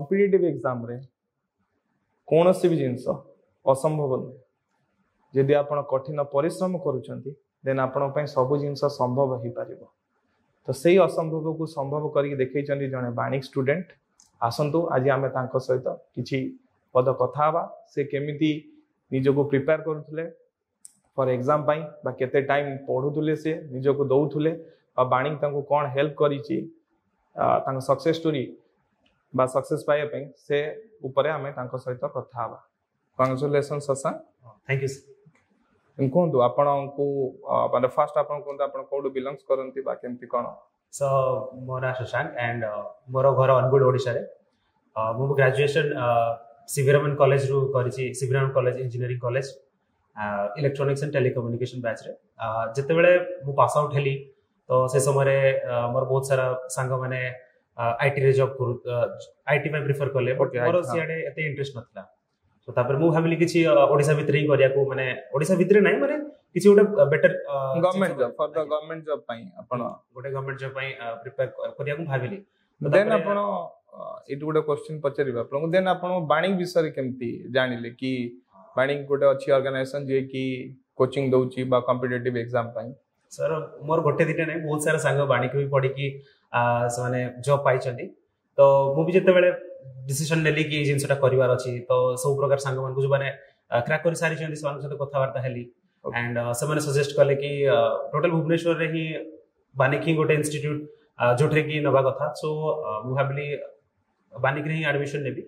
Competitive ଏକ୍ଜାମ୍ରେ କୌଣସି ବି ଜିନିଷ ଅସମ୍ଭବ ନୁହେଁ। ଯଦି ଆପଣ କଠିନ ପରିଶ୍ରମ କରୁଛନ୍ତି, ଦେନ୍ ଆପଣଙ୍କ ପାଇଁ ସବୁ ଜିନିଷ ସମ୍ଭବ ହେଇପାରିବ। ତ ସେଇ ଅସମ୍ଭବକୁ ସମ୍ଭବ କରିକି ଦେଖେଇଛନ୍ତି ଜଣେ ବାଣିକ ଷ୍ଟୁଡେଣ୍ଟ। ଆସନ୍ତୁ, ଆଜି ଆମେ ତାଙ୍କ ସହିତ କିଛି ପଦ କଥା ହେବା, ସେ କେମିତି ନିଜକୁ ପ୍ରିପେୟାର କରୁଥିଲେ ଫର୍ ଏକ୍ଜାମ୍ ପାଇଁ ବା କେତେ ଟାଇମ୍ ପଢ଼ୁଥିଲେ, ସେ ନିଜକୁ ଦଉଥିଲେ ବା ବାଣିକ ତାଙ୍କୁ କ'ଣ ହେଲ୍ପ କରିଛି ତାଙ୍କ ସକ୍ସେସ୍ ଷ୍ଟୋରି ବା ସକ୍ସେସ୍ ପାଇବା ପାଇଁ, ସେ ଉପରେ ଆମେ ତାଙ୍କ ସହିତ କଥା ହେବା। Congratulation Shashank. Thank you. କୁହନ୍ତୁ, ଆପଣଙ୍କୁ ମାନେ ଫାର୍ଷ୍ଟ ଆପଣ କୁହନ୍ତୁ, ଆପଣ କୋଉଠୁ ବିଲଙ୍ଗସ୍ କରନ୍ତି ବା କେମିତି କ'ଣ? ସୋ ମୋ ନାଁ ଶଶାଙ୍କ ଆଣ୍ଡ ମୋର ଘର ଅନୁଗୁଳ, ଓଡ଼ିଶାରେ। ମୁଁ ଗ୍ରାଜୁଏସନ୍ ସିଭି ରମନ କଲେଜରୁ କରିଛି, CV Raman college, engineering college, electronics and telecommunication ବ୍ୟାଚ୍ରେ। ଯେତେବେଳେ ମୁଁ ପାସ୍ ଆଉଟ୍ ହେଲି, ତ ସେ ସମୟରେ ମୋର ବହୁତ ସାରା ସାଙ୍ଗମାନେ ଆଇଟିରେ ଜବ୍ କରୁ, IT ପାଇଁ ପ୍ରିଫର କଲେ, ବଟ୍ ମୋର ସିଆଡ଼େ ଏତେ ଇଣ୍ଟରେଷ୍ଟ ନଥିଲା। ତ ତାପରେ ମୁଁ ଭାବିଲି କିଛି ଓଡ଼ିଶା ଭିତରେ ହିଁ କରିବାକୁ, ମାନେ ଓଡ଼ିଶା ଭିତରେ ନାହିଁ, ମାନେ କିଛି ଗୋଟେ better government job, for the government job ପାଇଁ ଆପଣ ଗୋଟେ ଗଭର୍ଣ୍ଣମେଣ୍ଟ ଜବ୍ ପାଇଁ ପ୍ରିପେୟାର କରିବାକୁ ମୁଁ ଭାବିଲି। ଦେନ୍ ଆପଣ ଏଇଠି ଗୋଟେ କ୍ୱେଶ୍ଚିନ୍ ପଚାରିବି ଆପଣଙ୍କୁ। ଦେନ୍ ଆପଣ ବାଣିକ ବିଷୟରେ କେମିତି ଜାଣିଲେ କି ବାଣିକ ଗୋଟେ ଅଛି ଅର୍ଗାନାଇଜେସନ, ଯିଏକି କୋଚିଂ ଦଉଛି ବା କମ୍ପିଟେଟିଭ ଏକ୍ଜାମ ପାଇଁ? ସାର୍, ମୋର ଗୋଟେ ଦିଟା ନାହିଁ, ବହୁତ ସାରା ସାଙ୍ଗ ବାଣିକ ବି ପଢିକି ସେମାନେ ଜବ୍ ପାଇଛନ୍ତି। ତ ମୁଁ ବି ଯେତେବେଳେ ଡିସିସନ ନେଲି କି ଏଇ ଜିନିଷଟା କରିବାର ଅଛି, ତ ସବୁ ପ୍ରକାର ସାଙ୍ଗମାନଙ୍କୁ ଯୋଉମାନେ କ୍ରାକ୍ କରି ସାରିଛନ୍ତି, ସେମାନଙ୍କ ସହିତ କଥାବାର୍ତ୍ତା ହେଲି ଆଣ୍ଡ ସେମାନେ ସଜେଷ୍ଟ କଲେ କି ଟୋଟାଲ ଭୁବନେଶ୍ୱରରେ ହିଁ ବାନିକ ହିଁ ଗୋଟେ ଇନଷ୍ଟିଟ୍ୟୁଟ ଯୋଉଥିରେ କି ନେବା କଥା। ସୋ ମୁଁ ଭାବିଲି ବାନିକରେ ହିଁ ଆଡମିସନ ନେବି।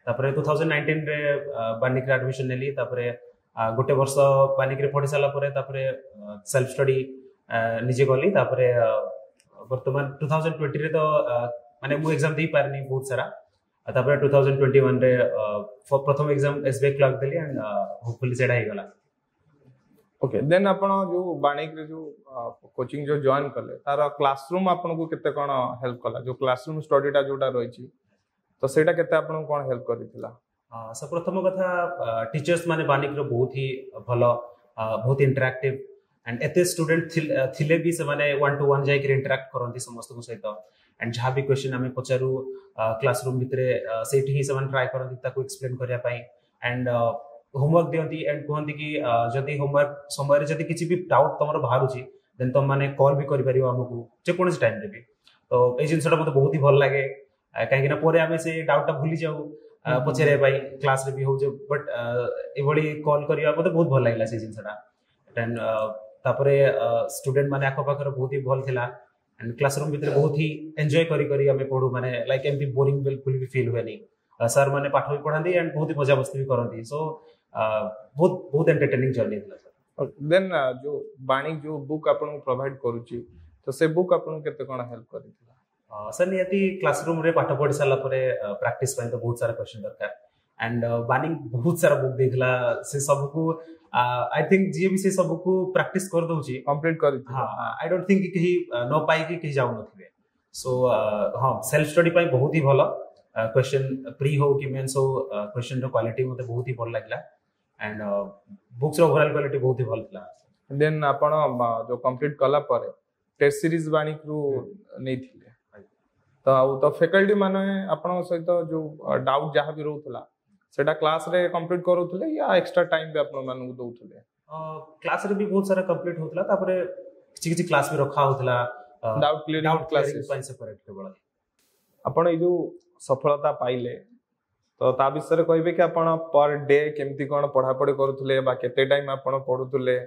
ତାପରେ 2019ରେ ବାନିକରେ ଆଡମିସନ ନେଲି। ତାପରେ ଗୋଟେ ବର୍ଷ ବାନିକରେ ପଢି ସାରିଲା ପରେ ତାପରେ ସେଲ୍ଫ ଷ୍ଟଡି ନିଜେ କଲି। ତାପରେ ବର୍ତ୍ତମାନ 2020ରେ ତ ମାନେ ମୁଁ ଏକ୍ଜାମ ଦେଇପାରିନି ବହୁତ ସାରା। ଆଉ ତାପରେ 2021ରେ ପ୍ରଥମ exam S B I clerk ଦେଲି ଆଣ୍ଡ ହୋପଫୁଲି ସେଇଟା ହେଇଗଲା। ଓକେ, ଦେନ୍ ଆପଣ ଯୋଉ ବାଣିକରେ ଯୋଉ କୋଚିଂ ଯୋଉ ଜଏନ୍ କଲେ, ତାର କ୍ଲାସରୁମ୍ ଆପଣଙ୍କୁ କେତେ କ'ଣ ହେଲ୍ପ କଲା? ଯୋଉ କ୍ଲାସରୁମ୍ ଷ୍ଟଡିଟା ଯୋଉଟା ରହିଛି, ତ ସେଇଟା କେତେ ଆପଣଙ୍କୁ କ'ଣ ହେଲ୍ପ କରିଥିଲା? ସो ପ୍ରଥମ କଥା, ଟିଚର୍ସ ମାନେ ବାନିକର ବହୁତ ହି ଭଲ, ବହୁତ ଇଣ୍ଟରାକ୍ଟିଭ ଆଣ୍ଡ ଏତେ ଷ୍ଟୁଡେଣ୍ଟ ଥିଲେ ବି ସେମାନେ ୱାନ୍ ଟୁ ୱାନ୍ ଯାଇକରି ଇଣ୍ଟରାକ୍ଟ କରନ୍ତି ସମସ୍ତଙ୍କ ସହିତ। ଆଣ୍ଡ ଯାହା ବି କ୍ୱେଶ୍ଚନ୍ ଆମେ ପଚାରୁ କ୍ଲାସରୁମ୍ ଭିତରେ, ସେଇଠି ହିଁ ସେମାନେ ଟ୍ରାଏ କରନ୍ତି ତାକୁ ଏକ୍ସପ୍ଲେନ୍ କରିବା ପାଇଁ। ଆଣ୍ଡ ହୋମୱାର୍କ ଦିଅନ୍ତି ଆଣ୍ଡ କୁହନ୍ତି କି ଯଦି ହୋମୱାର୍କ ସମୟରେ ଯଦି କିଛି ବି ଡାଉଟ୍ ତମର ବାହାରୁଛି, ଦେନ୍ ତମମାନେ କଲ୍ ବି କରିପାରିବ ଆମକୁ ଯେକୌଣସି ଟାଇମ୍ରେ ବି। ତ ଏଇ ଜିନିଷଟା ମୋତେ ବହୁତ ହି ଭଲ ଲାଗେ, କାହିଁକି ନା ପରେ ଆମେ ସେ ଡାଉଟ୍ଟା ଭୁଲି ଯାଉ ପଚାରିବା ପାଇଁ, କ୍ଲାସରେ ବି ହଉଛି, ବଟ୍ ଏଭଳି କଲ୍ କରିବା ମୋତେ ବହୁତ ଭଲ ଲାଗିଲା ସେଇ ଜିନିଷଟା। ଦେନ୍ ତାପରେ ଷ୍ଟୁଡେଣ୍ଟ ମାନେ ଆଖପାଖରେ ବହୁତ ହି ଭଲ ଥିଲା ଆଣ୍ଡ କ୍ଲାସରୁମ୍ ଭିତରେ ବହୁତ ହି ଏନ୍ଜୟ କରି କରି ଆମେ ପଢୁ, ମାନେ ଲାଇକ୍ ଏମିତି ବୋରିଂ ବିଲକୁଲ ବି ଫିଲ୍ ହୁଏନି। ସାର୍ ମାନେ ପାଠ ବି ପଢାନ୍ତି ଆଣ୍ଡ ବହୁତ ହି ମଜାମସ୍ତି ବି କରନ୍ତି। ସୋ ବହୁତ ବହୁତ ଏଣ୍ଟରଟେନିଂ ଜର୍ଣ୍ଣି ଥିଲା ସାର୍। ଦେନ୍ ଯୋଉ ବାଣିକ ଯୋଉ ବୁକ୍ ଆପଣଙ୍କୁ ପ୍ରୋଭାଇଡ କରୁଛି, ତ ସେ ବୁକ୍ ଆପଣଙ୍କୁ କେତେ କ'ଣ ହେଲ୍ପ କରିଥିଲା? ସାର୍, ନିହାତି କ୍ଲାସରୁମ୍ରେ ପାଠ ପଢି ସାରିଲା ପରେ ପ୍ରାକ୍ଟିସ ପାଇଁ ତ ବହୁତ ସାରା କ୍ୱେଶ୍ଚନ ଦରକାର ଆଣ୍ଡ ବାନିକ ବହୁତ ସାରା ବୁକ୍ ଦେଇଥିଲା। ସେ ସବୁକୁ I think ଯିଏ ବି ସେ ସବୁକୁ ପ୍ରାକ୍ଟିସ କରିଦଉଛି, କମ୍ପ୍ଲିଟ୍ କରିଥିଲା, ହଁ, I don't think କେହି ନ ପାଇକି କେହି ଯାଉନଥିବେ। ସୋ ହଁ, ସେଲ୍ଫ ଷ୍ଟଡି ପାଇଁ ବହୁତ ହି ଭଲ। କ୍ୱେଶ୍ଚନ ପ୍ରି ହଉ କି ମେନ୍ସ ହଉ, କ୍ୱେଶ୍ଚନର କ୍ୱାଲିଟି ମୋତେ ବହୁତ ହି ଭଲ ଲାଗିଲା ଆଣ୍ଡ ବୁକ୍ସର ଓଭରଅଲ୍ କ୍ୱାଲିଟି ବହୁତ ହି ଭଲ ଥିଲା। ଦେନ୍ ଆପଣ ଯୋଉ କମ୍ପ୍ଲିଟ୍ କଲା ପରେ ଟେଷ୍ଟ ସିରିଜ ବାଣିକରୁ ନେଇଥିଲେ ତ, ଆଉ ତ ଫ୍ୟାକଲ୍ଟି ମାନେ ଆପଣଙ୍କ ସହିତ ଯୋଉ ଡାଉଟ୍ ଯାହା ବି ରହୁଥିଲା, ସେଇଟା କ୍ଲାସରେ କମ୍ପ୍ଲିଟ୍ କରୁଥିଲେ ୟା ଏକ୍ସଟ୍ରା ଟାଇମ୍ ବି ଆପଣ ମାନଙ୍କୁ ଦଉଥିଲେ? କ୍ଲାସରେ ବି ବହୁତ ସାରା କମ୍ପ୍ଲିଟ୍ ହଉଥିଲା। ତାପରେ କିଛି କିଛି କ୍ଲାସ ବି ରଖା ହଉଥିଲା ଡାଉଟ୍ କ୍ଲିୟରିଂ ଡାଉଟ୍ କ୍ଲାସେସ୍ ପାଇଁ ସେପାରେଟ୍ କେବଳ। ଆପଣ ଏଇ ଯୋଉ ସଫଳତା ପାଇଲେ, ତ ତା ବିଷୟରେ କହିବେ କି ଆପଣ ପର ଡେ କେମିତି କ'ଣ ପଢାପଢି କରୁଥିଲେ ବା କେତେ ଟାଇମ୍ ଆପଣ ପଢୁଥିଲେ,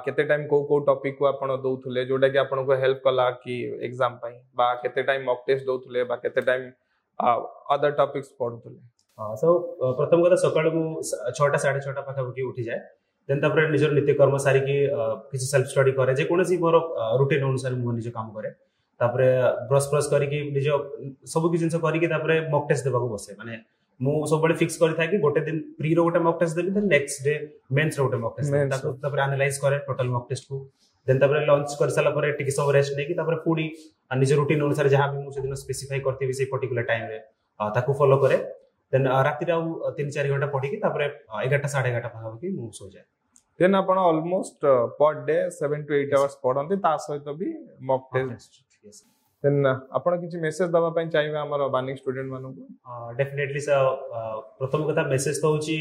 କେତେ ଟାଇମ୍ କୋଉ କୋଉ ଟପିକକୁ ଆପଣ ଦଉଥିଲେ, ଯୋଉଟା କି ଆପଣଙ୍କୁ ହେଲ୍ପ କଲା କି ଏକ୍ଜାମ ପାଇଁ, ବା କେତେ ଟାଇମ୍ ମକ୍ ଟେଷ୍ଟ ଦଉଥିଲେ ବା କେତେ ଟାଇମ୍ ଅଦର ଟପିକ୍ସ ପଢୁଥିଲେ? ସୋ ପ୍ରଥମ କଥା, ସକାଳୁ ମୁଁ 6ଟା 6:30 ପାଖାପାଖି ଉଠିଯାଏ। ଦେନ୍ ତାପରେ ନିଜର ନିତ୍ୟକର୍ମ ସାରିକି କିଛି ସେଲ୍ଫ ଷ୍ଟଡି କରେ। ଯେକୌଣସି ମୋର ରୁଟିନ୍ ଅନୁସାରେ ମୁଁ ନିଜ କାମ କରେ। ତାପରେ ବ୍ରସ୍ ଫ୍ରସ୍ କରିକି, ନିଜ ସବୁ କିଛି ଜିନିଷ କରିକି, ତାପରେ ମକ୍ ଟେଷ୍ଟ ଦେବାକୁ ବସେ। ମାନେ ମୁଁ ସବୁବେଳେ ଫିକ୍ସ କରିଥାଏ କି ଗୋଟେ ଦିନ ପ୍ରିର ଗୋଟେ ମକ୍ ଟେଷ୍ଟ ଦେବି, ଦେନ୍ ନେକ୍ସଟ ଡେ ମେନ୍ସର ଗୋଟେ ମକ୍ ଟେଷ୍ଟ। ତାକୁ ତାପରେ ଆନାଲାଇଜ କରେ ଟୋଟାଲ ମକ୍ ଟେଷ୍ଟକୁ। ଦେନ୍ ତାପରେ ଲଞ୍ଚ କରିସାରିଲା ପରେ ଟିକେ ସମୟ ରେଷ୍ଟ ନେଇକି ତାପରେ ପୁଣି ନିଜ ରୁଟିନ୍ ଅନୁସାରେ ଯାହା ବି ମୁଁ ସେଦିନ ସ୍ପେସିଫାଇ କରିଥିବି ସେଇ ପର୍ଟିକୁଲାର ଟାଇମରେ, ତାକୁ ଫଲୋ କରେ। ଦେନ୍ ରାତିରେ ଆଉ 3-4 ଘଣ୍ଟା ପଢିକି ତାପରେ 11ଟା 11:30 ପାଖାପାଖି ମୁଁ ଶୋଇଯାଏ। ଦେନ୍ ଆପଣ almost per day 7 to 8 hours ପଢନ୍ତି, ତା ସହିତ ବି ମକ୍ ଟେଷ୍ଟ। ଦେନ୍ ଆପଣ କିଛି ମେସେଜ ଦେବା ପାଇଁ ଚାହିଁବେ ଆମର ବାନିକ ଷ୍ଟୁଡେଣ୍ଟ ମାନଙ୍କୁ? Definitely sir. ପ୍ରଥମ କଥା ମେସେଜ ତ ହେଉଛି,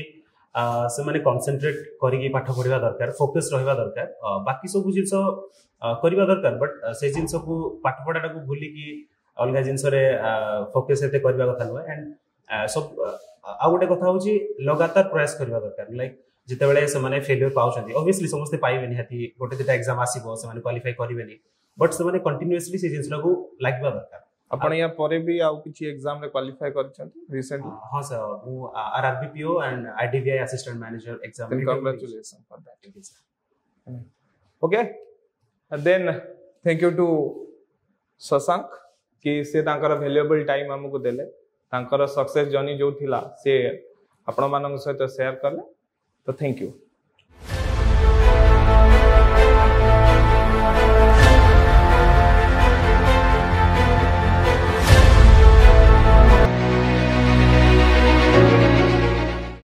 ସେମାନେ କନସେନ୍ଟ୍ରେଟ୍ କରିକି ପାଠ ପଢିବା ଦରକାର, ଫୋକସ୍ ରହିବା ଦରକାର। ବାକି ସବୁ ଜିନିଷ କରିବା ଦରକାର, ବଟ୍ ସେ ଜିନିଷକୁ, ପାଠ ପଢାଟାକୁ ଭୁଲିକି ଅଲଗା ଜିନିଷରେ ଫୋକସ୍ ଏତେ କରିବା କଥା ନୁହେଁ। ଆଣ୍ଡ ସବୁ ଆଉ ଗୋଟେ କଥା ହଉଛି, ଲଗାତାର ପ୍ରୟାସ କରିବା ଦରକାର। ଲାଇକ୍ ଯେତେବେଳେ ସେମାନେ ଫେଲିୟର ପାଉଛନ୍ତି, ଅବଭିୟସଲି ସମସ୍ତେ ପାଇବେ ନିହାତି, ଗୋଟେ ଦିଟା ଏକ୍ସାମ ଆସିବ ସେମାନେ କ୍ୱାଲିଫାଇ କରିବେନି, ବଟ୍ ସେମାନେ କଣ୍ଟିନ୍ୟୁଅସଲି ସେ ଜିନିଷଟାକୁ ଲାଗିବା ଦରକାର। ଆପଣ ୟା ପରେ ବି ଆଉ କିଛି ଏକ୍ସାମ ରେ କ୍ୱାଲିଫାଇ କରିଛନ୍ତି ରିସେଣ୍ଟଲି? ହଁ ସାର୍, ମୁଁ RRB PO and IDBI assistant manager exam. Congratulation for that. Okay, then thank you to Shashank କି ସେ ତାଙ୍କର ଭ୍ୟାଲୁଏବଲ୍ ଟାଇମ୍ ଆମକୁ ଦେଲେ, ତାଙ୍କର ସକ୍ସେସ୍ ଜର୍ଣ୍ଣି ଯୋଉ ଥିଲା ସେ ଆପଣମାନଙ୍କ ସହିତ ସେୟାର କଲେ। ତ thank you.